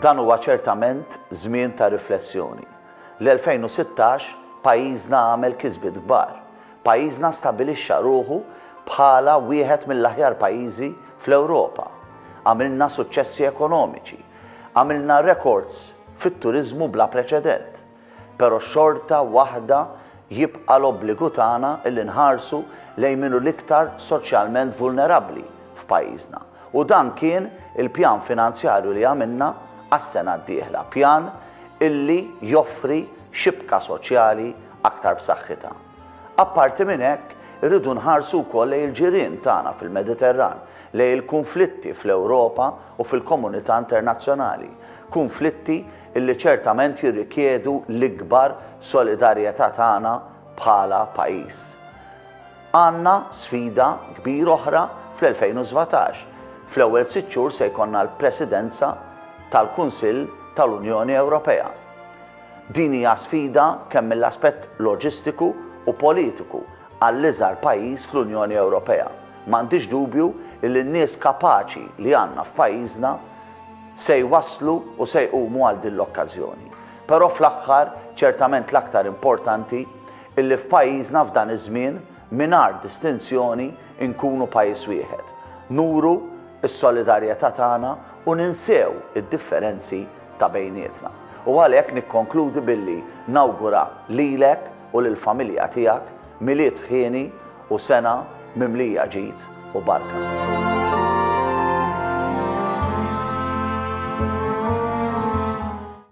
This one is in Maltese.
Dan huwa ċertament żmien ta' riflessjoni. L-2016 pajjiżna għamel kisbiet kbar. Pajjiżna stabilixxa ruħu bħala wieħed mill-aħjar pajjiżi fl-Ewropa. Għamilna suċċessi ekonomiċi. Għamilna rekords fit-turiżmu bla preċedent. Pero xorta waħda jibqa' l-obbligu tagħna illi nħarsu lejn min hu l-iktar soċjalment vulnerabbli f'pajjiżna. U dan kien il-pjan finanzjarju li għamilna għas-sena d-dieħla, pjan illi joffri xibka soċjali aktar b'saħħitha. Apparti minn hekk, irridu nħarsu wkoll lejn il-ġirien tagħna fil-Mediterran, lejn il-kunflitti fl-Ewropa u fil-komunità internazzjonali, kunflitti illi ċertament jirrikjedu l-ikbar solidarjetà tagħna bħala pajjiż. Għandna sfida kbira oħra fl-2017. Fl-ewwel sitt xhur se jkollna l-Presidenza tal-Kunsill tal-Unjoni Ewropea. Din hija sfida kemm mill-aspett loġistiku u politiku għall-iżgħar pajjiż fl-Unjoni Ewropea. M'għandix dubju li n-nies kapaċi li għandna f'pajjiżna se jwasslu u se jqumu għal din l-okkażjoni. Però fl-aħħar, ċertament l-aktar importanti, illi f'pajjiżna f'dan iż-żmien, mingħajr distinzjoni, inkunu pajjiż wieħed. Nuru s-solidarjetà tagħna u ninsew id-differenzi ta' bejnietna. U għalhekk nikkonkludi billi nawgura lilek u lill-familja tiegħek Milied ħieni u sena mimlija ġid u barka.